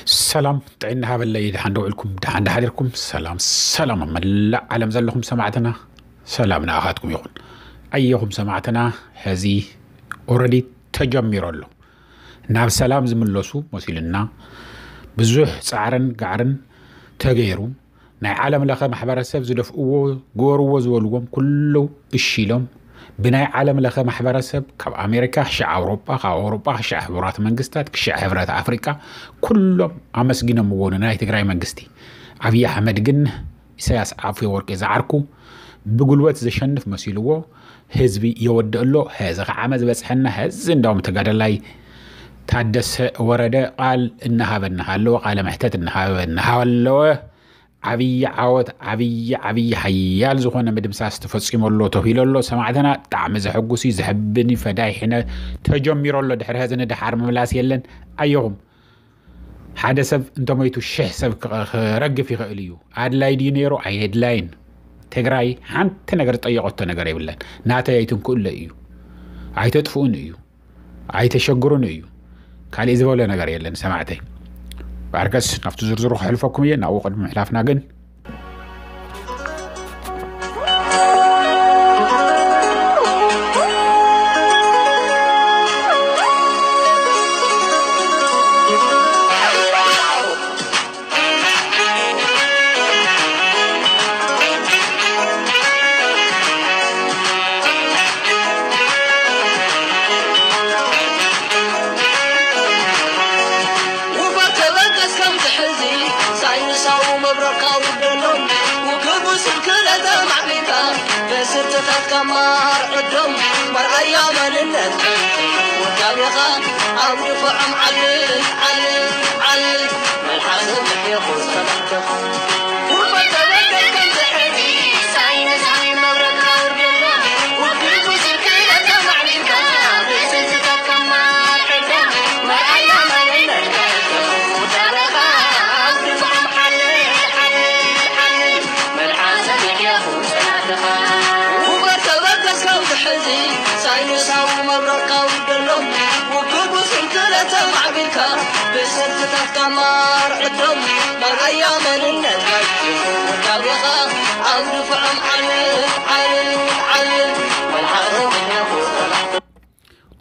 ሰላም ጥዕና ሃበለይ፣ ደሓን ደውዕልኩም፣ ደሓን ደሓዲርኩም። ሰላም ሰላም ኣብ መላእ ዓለም ዘለኹም ሰማዕትና፣ ሰላም ንኣኻትኩም ይኹን። ኣየኹም ሰማዕትና፣ ሕዚ ኦረዲ ተጀሚሩ ኣሎ። ናብ ሰላም ዝምለሱ መሲልና ብዙሕ ጻዕርን ጋዕርን ተገይሩ፣ ናይ ዓለም ለኸ ማሕበረሰብ ዝደፍእዎ፣ ግበርዎ ዝበልዎም ኩሉ እሺ ኢሎም፣ ብናይ ዓለም ለኸ ማሕበረሰብ ካብ ኣሜሪካ ክሻዕ ኣውሮጳ፣ ካብ ኣውሮጳ ክሻዕ ሕቡራት መንግስታት፣ ክሻዕ ሕብረት ኣፍሪቃ፣ ኩሎም ኣመስጊኖምዎ ንናይ ትግራይ መንግስቲ። ኣብይ ኣሕመድ ግን ኢሳያስ ኣፈወርቂ ዝዓርኩ ብጉልበት ዘሸንፍ መሲልዎ ህዝቢ የወድእ ኣሎ። ሕዚ ከዓ ዝበፅሐና ሕዚ እንዳውም ተጋዳላይ ታደሰ ወረደ ቃል እናሃበ እናሃለወ፣ ቃለ መሕተት እናሃበ እናሃለወ፣ ዓብዪ ዓወት፣ ዓብዪ፣ ዓብዪ ሓያል ዝኾነ ምድምሳስ ተፈጺሙ ኣሎ ተባሂሉ ኣሎ። ሰማዕትና፣ ብጣዕሚ ዘሐጉስ እዩ፣ ዘሕብን እዩ። ፈዳይ ሕነ ተጀሚሩ ኣሎ። ድሕሪ ሕዚ ንደሓር ምምላስ የለን። ኣየኹም፣ ሓደ ሰብ እንተሞይቱ ሽሕ ሰብ ክረግፍ ይኽእል እዩ። ኣድላይ ድዩ ነይሩ? ኣየድላይን። ትግራይ ሓንቲ ነገር ዝጠየቐቶ ነገር የብለን። ናተይ ኣይትንክእለ እዩ። ኣይተጥፍኡን እዩ። ኣይተሸግሩን እዩ። ካሊእ ዝበለ ነገር የለን ሰማዕተይ። ባርከስ ናብቲ ዝርዝሩ ክሕልፈኩም እየ። ናብኡ ቅድሚ ምሕላፍና ግን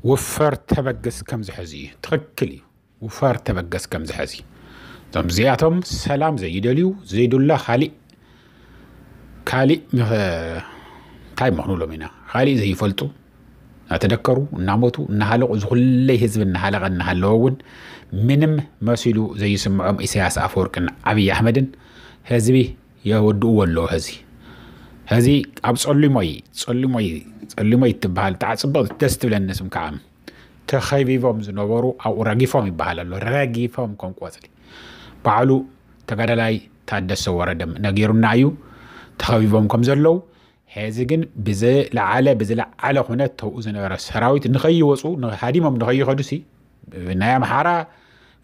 ውፈር ተበግስ ከምዚ ሕዚ እዩ። ትኽክል እዩ። ውፈር ተበገስ ከምዚ ሕዚ። እቶም እዚኣቶም ሰላም ዘይደልዩ፣ ዘይዱላ ካሊእ፣ ካሊእ ምኸ-፣ እንታይ ምኽኑሎም ኢና? ካሊእ ዘይፈልጡ፣ እናተደከሩ፣ እናሞቱ፣ እናሃለቑ፣ ዝኹለይ ህዝቢ እናሃለቐ እናሃለወ እውን ምንም መሲሉ ዘይስምዖም ኢሳያስ ኣፈወርቅን ኣብይ ኣሕመድን ህዝቢ የወድእዎ ኣለዉ። ሕዚ፣ ሕዚ ኣብ ጸሊሞይ፣ ጸሊሞይ፣ ጸሊሞይ ትበሃል፣ ብጣዕ ጽብቕ ደስ ትብለኒ ስም ከዓ። ተኸቢቦም ዝነበሩ ኣብኡ ረጊፎም ይበሃል ኣሎ። ረጊፎም ከም ቆጽሊ። ባዕሉ ተጋዳላይ ታደሰ ወረደ ነጊሩና እዩ። ተኸቢቦም ከም ዘለዉ፣ ሕዚ ግን ብዝለዓለ፣ ብዝለዓለ ኩነት ተብኡ ዝነበረ ሰራዊት ንኸይወፁ፣ ን-፣ ሃዲሞም ንኸይኸዱሲ፣ ናይ ኣምሓራ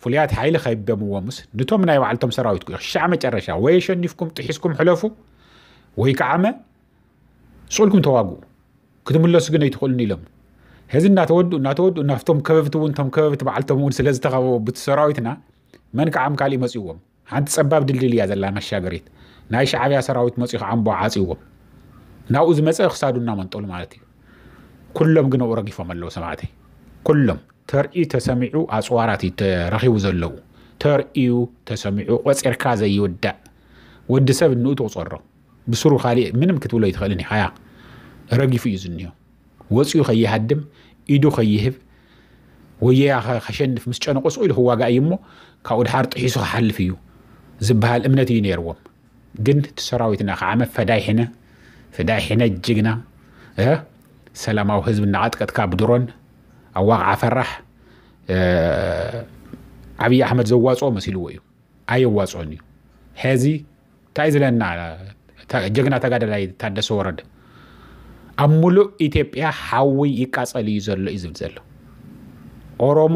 ፍሉያት ሓይሊ ከቢቦምዎምስ፣ ንቶም ናይ ባዕልቶም ሰራዊት ክሻዕ መጨረሻ ወይ ኣሸኒፍኩም ጥሒስኩም ሕለፉ፣ ወይ ከዓመ ስቕ ኢልኩም ተዋግኡ። ክትምለሱ ግን ኣይትኽእሉን ኢሎም። ሕዚ እናተወድኡ፣ እናተወድኡ፣ ናብቶም ከበብቲ እውን፣ እቶም ከበብቲ ባዕልቶም እውን ስለ ዝተኸበቡ ብቲ ሰራዊትና፣ መን ከዓም ካሊእ መፂዎም። ሓንቲ ፀባብ ድልድል እያ ዘላ መሻገሪት። ናይ ሻዕብያ ሰራዊት መፂኡ ከዓምቦ ዓፂዎም። ናብኡ ዝመፀ ክሳዱ እናመንጠሉ ማለት እዩ። ኩሎም ግን ኣብኡ ረጊፎም ኣለዉ ሰማዕተይ። ኩሎም። ተርእዩ ተሰሚዑ ኣፅዋራት እዩ ተረኺቡ ዘለዉ። ተርእዩ ተሰሚዑ ቆፂርካ ዘይውዳእ። ወዲ ሰብ እንኡ ትቑፀሮ። ብስሩ ካሊእ ምንም ክትብሎ ኣይትኽእልን ኢኻ። ያ ረጊፉ እዩ ዝኒኦ። ወፂኡ ከይሃድም፣ ኢዱ ከይህብ፣ ወየያ ከ-፣ ከሸንፍ ምስ ጨነቆ ስቕ ኢሉ ክዋጋእ እዩ እሞ፣ ካብኡ ድሓር ጥሒሱ ክሓልፍ እዩ ዝበሃል እምነት እዩ ነይርዎም። ግን እቲ ሰራዊትና ከዓመ ፈዳይ ሕነ፣ ፈዳይ ሕነ ጅግና፣ እ፣ ሰላማዊ ህዝቢ እናቐጥቀጥካ ብድሮን፣ ኣዋቕዓ ፈራሕ፣ እ፣ ዓብዪ ኣሕመድ ዘዋፅኦ መሲልዎ እዩ። ኣየዋፅኦን እዩ። ሕዚ እንታይ ዝለና ተ-፣ ጀግና ተጋዳላይ ታደሰ ወረደ፣ ኣብ ሙሉእ ኢትዮጵያ ሓዊ ይቃፀል እዩ ዘሎ እዩ ዝብል ዘሎ። ኦሮሞ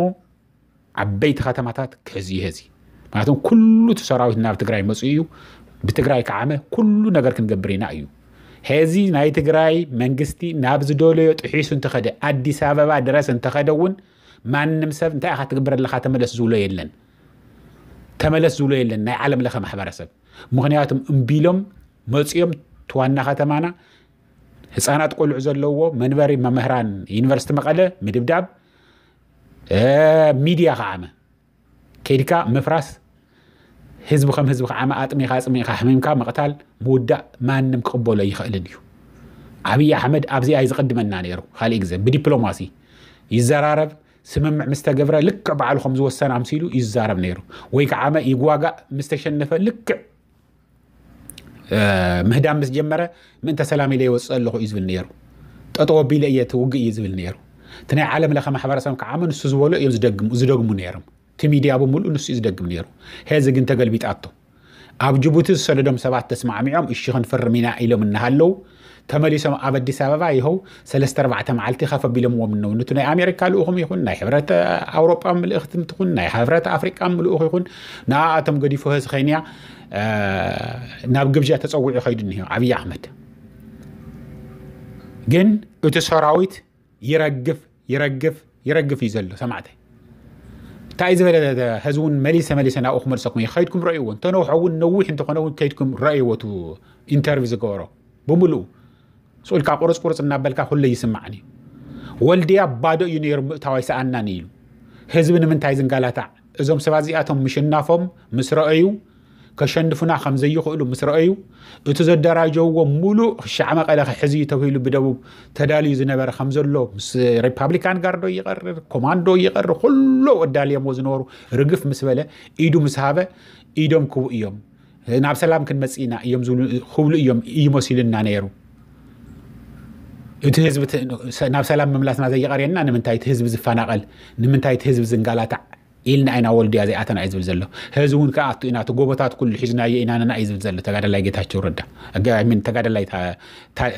ዓበይቲ ከተማታት ክሕዝ እዩ ሕዚ። ምክንያቱም ኩሉ እቲ ሰራዊት ናብ ትግራይ መፅኡ እዩ። ብትግራይ ከዓመ ኩሉ ነገር ክንገብር ኢና እዩ። ሕዚ ናይ ትግራይ መንግስቲ ናብ ዝደለዮ ጥሒሱ እንተኸደ፣ ኣዲስ ኣበባ ድረስ እንተኸደ እውን ማንም ሰብ እንታይ ኢኻ ትግብር ኣለኻ ተመለስ ዝብሎ የለን። ተመለስ ዝብሎ የለን ናይ ዓለም ለኸ ማሕበረሰብ። ምኽንያቱም እምቢሎም መፂኦም ትዋና ከተማና ህፃናት ቆልዑ ዘለዎ መንበሪ መምህራን ዩኒቨርሲቲ መቐለ ምድብዳብ፣ ሚድያ ከዓመ ከይድካ ምፍራስ፣ ህዝቢ ከም ህዝቢ ከዓመ ኣጥሚኻ ኣፅሚኻ ሕሚምካ ምቕታል ምውዳእ ማንም ክቕበሎ ይኽእልን እዩ። ኣብይ ኣሕመድ ኣብዚኣ እዩ ዝቕድመና ነይሩ። ካሊእ ግዜ ብዲፕሎማሲ ይዘራረብ፣ ስምምዕ ምስ ተገብረ ልክዕ ባዕሉ ከም ዝወሰን ኣምሲሉ ይዛረብ ነይሩ። ወይ ከዓመ ይጓጋእ ምስ ተሸነፈ ልክዕ ምህዳም ምስ ጀመረ ምእንተ ሰላም ኢለ ይወፅእ ኣለኹ እዩ ዝብል ነይሩ። ጠጠው ኣቢለ እየ ትውግእ እዩ ዝብል ነይሩ። እቲ ናይ ዓለም ለኸ ማሕበረሰብ ከዓመ ንሱ ዝበሎ እዮም ዝደግሙ ነይሮም። እቲ ሚድያ ብምሉእ ንሱ እዩ ዝደግም ነይሩ። ሄዚ ግን ተገልቢጣቶ። ኣብ ጅቡቲ ዝሰደዶም ሰባት ተስማዕሚዖም እሺ ክንፍርም ኢና ኢሎም እናሃለዉ ተመሊሶም ኣብ ኣዲስ ኣበባ ይኸው ሰለስተ ኣርባዕተ መዓልቲ ከፍ ኣቢሎምዎም እነው። ነቲ ናይ ኣሜሪካ ልኡኹም ይኹን ናይ ሕብረት ኣውሮጳ ምልእኽቲ ትኹን ናይ ሕብረት ኣፍሪቃ ምልኡኽ ይኹን ንኣኣቶም ገዲፉ ህዚ ኸይንያ ናብ ግብዣ ተፀዊዑ ኸይዱ እኒሆ ኣብይ ኣሕመድ። ግን እቲ ሰራዊት ይረግፍ ይረግፍ ይረግፍ እዩ ዘሎ ሰማዕተይ። እንታይ ዝበለ ህዝቢ እውን መሊሰ መሊሰ ናብኡ ክመልሰኩም እየ። ከይድኩም ረእይዎ፣ እንተነውሐ እውን ነዊሕ እንተኾነ እውን ከይድኩም ረእይዎ። እቲ ኢንተርቪው ዝገበሮ ብምሉኡ ስኡልካ ቁርፅ ቁርፅ እናበልካ ኩለ ይስማዕን እዩ። ወልድያ ባዶ እዩ ነይሩ ምእታው ኣይሰኣናን ኢሉ። ህዝቢ ንምንታይ ዝንጋላታዕ? እዞም ሰባት እዚኣቶም ምሽናፎም ምስ ረአዩ ከሸንፉና ከም ዘይኽእሉ ምስ ረአዩ እቲ ዘደራጀውዎ ሙሉእ ክሻዕ መቐለ ክሕዝ እዩ ተባሂሉ ብደቡብ ተዳልዩ ዝነበረ ከም ዘሎ ምስ ሪፓብሊካን ጋርዶ ይቐርር ኮማንዶ ይቐርር ኩሎ ኣዳልዮምዎ ዝነበሩ ርግፍ ምስ በለ ኢዱ ምስ ሃበ ኢዶም ክቡ እዮም ናብ ሰላም ክንመጽእ ኢና እዮም ዝብሉ ክብሉ እዮም እዩ መሲሉና ነይሩ። እቲ ህዝቢ ናብ ሰላም ምምላስና ዘይቀርየና ንምንታይ እቲ ህዝቢ ዝፈናቐል ንምንታይ እቲ ህዝቢ ዝንጋላታዕ ኢልና ኢና ወልድያ ዘይኣተና እዩ ዝብል ዘሎ። ህዚ እውን ክኣቱ ኢና እቲ ጎቦታት ኩሉ ሒዝናዮ ኢና ነና እዩ ዝብል ዘሎ ተጋደላይ ጌታቸው ረዳ። ተጋደላይ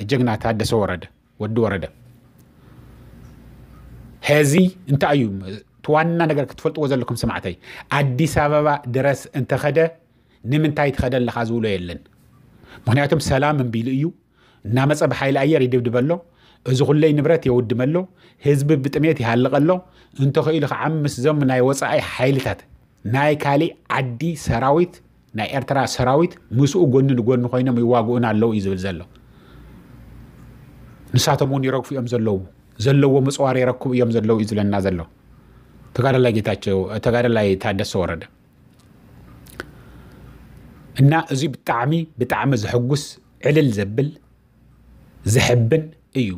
ጀግና ታደሰ ወረደ ወዲ ወረደ። ሄዚ እንታይ እዩ እቲ ዋና ነገር ክትፈልጥዎ ዘለኩም ስማዕተይ። ኣዲስ ኣበባ ድረስ እንተኸደ ንምንታይ ትኸደ ኣለኻ ዝብሎ የለን። ምክንያቱም ሰላም እምቢሉ እዩ እናመፀ ብሓይሊ ኣየር ይድብድበ ኣሎ። እዚ ኩለይ ንብረት የውድመ ኣሎ። ህዝቢ ብጥሜት ይሃልቕ ኣሎ። እንተኽኢሉ ከዓ ምስዞም ናይ ወፃኢ ሓይልታት ናይ ካሊእ ዓዲ ሰራዊት ናይ ኤርትራ ሰራዊት ምስኡ ጎኒ ንጎኒ ኮይኖም ይዋግኡና ኣለዉ እዩ ዝብል ዘሎ። ንሳቶም እውን ይረግፉ እዮም ዘለዉ ዘለዎ ምፅዋር የረክቡ እዮም ዘለዉ እዩ ዝብለና ዘሎ ተጋዳላይ ጌታቸው ተጋዳላይ ታደሰ ወረደ። እና እዚ ብጣዕሚ ብጣዕሚ ዘሐጉስ ዕልል ዘብል ዘሕብን እዩ።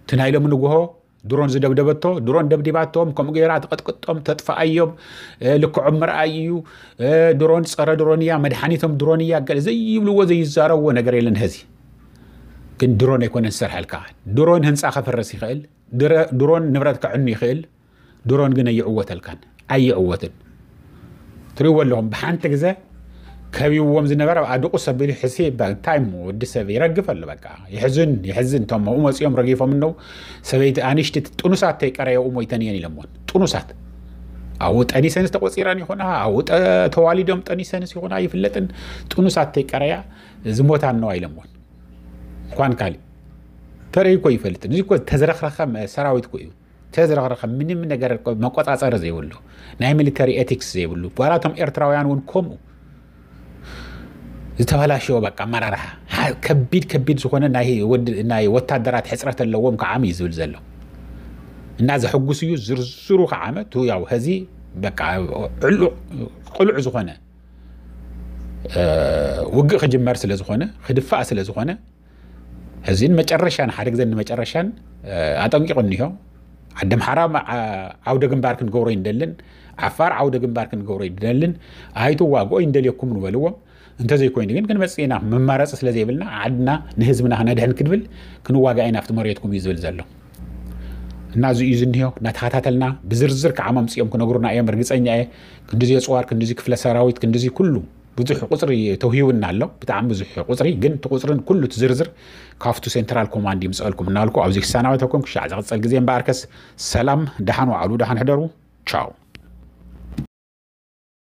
እቲ ናይ ሎሚ ንግሆ ድሮን ዝደብደበቶ ድሮን ደብዲባቶም ከምኡ ገይራ ትቐጥቅጦም ተጥፋኣዮም ልክዖም ምርኣይ እዩ። ድሮን ፀረ ድሮን እያ መድሓኒቶም ድሮን እያ ገለ ዘይብልዎ ዘይዛረብዎ ነገር የለን። ሀዚ ግን ድሮን ኣይኮነን ዝሰርሐልካ። ድሮን ህንፃ ከፍርስ ይኽእል። ድሮን ንብረት ከዕኑ ይኽእል። ድሮን ግን ኣይዕወተልካን ኣይዕወትን። ትሪእዎ ኣለኹም ብሓንቲ ግዘ ከቢብዎም ዝነበረ ኣብኣ ድቑስ ኣቢሉ ሕሲ እንታይ እሞ ወዲ ሰብ ይረግፍ ኣሎ በቃ። ይሕዝን ይሕዝን እቶም ኣብኡ መፂኦም ረጊፎም እነው ሰበይቲ ኣንሽቲ ጥኑሳት ተይቀረየኡ ሞይተን እየን ኢለምዎን። ጥኑሳት ኣብኡ ጠኒሰንስ ተቆፂረን ይኾና ኣብኡ ተዋሊዶም ጠኒሰንስ ይኾና ይፍለጥን። ጥኑሳት ተይቀረያ ዝሞታ እነዋ ኢለምዎን። እንኳን ካሊእ ተረይ እኮ ይፈልጥን እዚ እኮ ተዝረክረከ ሰራዊት እኮ እዩ። ተዝረኽረኸ ምንም ነገር መቆፃፀሪ ዘይብሉ ናይ ሚሊተሪ ኤቲክስ ዘይብሉ ባላቶም ኤርትራውያን እውን ከምኡ ዝተበላሸወ በቃ ኣመራርሓ ከቢድ ከቢድ ዝኾነ ናይ ወታደራት ሕፅረት ኣለዎም ከዓም እዩ ዝብል ዘሎ። እና ዘሕጉስ እዩ ዝርዝሩ ከዓመ ቱ ያው ሀዚ በቃ ቅሉዕ ዝኾነ ውግእ ክጅመር ስለ ዝኾነ ክድፋእ ስለ ዝኾነ እዚን መጨረሻን ሓደ ግዘ ንመጨረሻን ኣጠንቂቑ እኒሆ። ዓዲ ኣምሓራ ዓውደ ግንባር ክንገብሮ ይንደልን ዓፋር ዓውደ ግንባር ክንገብሮ ይንደልን ኣይትዋግኦ ይንደልየኩም ንበልዎም። እንተዘይኮይኑ ግን ክንመፅእ ኢና መማረፂ ስለ ዘይብልና ዓድና ንህዝብና ክነድሕን ክንብል ክንዋጋእ ኢና ኣብቲ መሬትኩም እዩ ዝብል ዘሎ። እና እዚ እዩ ዝኒሆ እናተኸታተልና ብዝርዝር ከዓ መምፅኦም ክነግሩና እዮም ርግፀኛ እየ። ክንዲዚ የፅዋር ክንዲዚ ክፍለ ሰራዊት ክንዲዚ ኩሉ ብዙሕ ቁፅሪ ተውሂቡና ኣሎ። ብጣዕሚ ብዙሕ ቁፅሪ ግን እቲ ቁፅርን ኩሉ እቲ ዝርዝር ካብቱ ሴንትራል ኮማንድ ይምፀልኩም እናልኩ ኣብዚ ክሰናበተኩም ክሻዕ ዝቕፀል ግዜ እምበኣርከስ ሰላም ደሓን ዋዕሉ ደሓን ሕደሩ። ቻው።